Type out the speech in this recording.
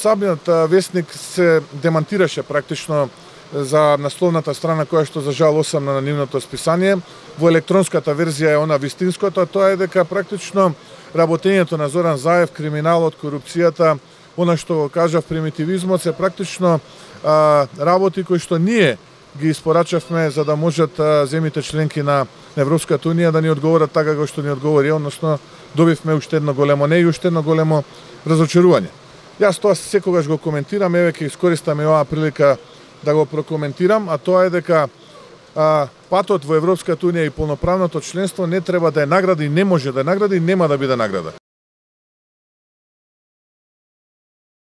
Самиот весник се демантираше практично за насловната страна која што за жал осамна на нивното списание. Во електронската верзија е она вистинското, тоа е дека практично работењето на Зоран Заев, криминалот, корупцијата, она што го кажав, примитивизмот се практично работи кои што ние ги испорачавме за да можат земите членки на Европската унија да ни одговорат така како што ни одговори, односно добивме уште едно големо не и уште едно големо разочарување. Јас тоа секогаш го коментирам, еве ќе искористам и оваа прилика да го прокоментирам, а тоа е дека патот во Европската унија и полноправното членство не треба да е награда и не може да е награда и нема да биде награда.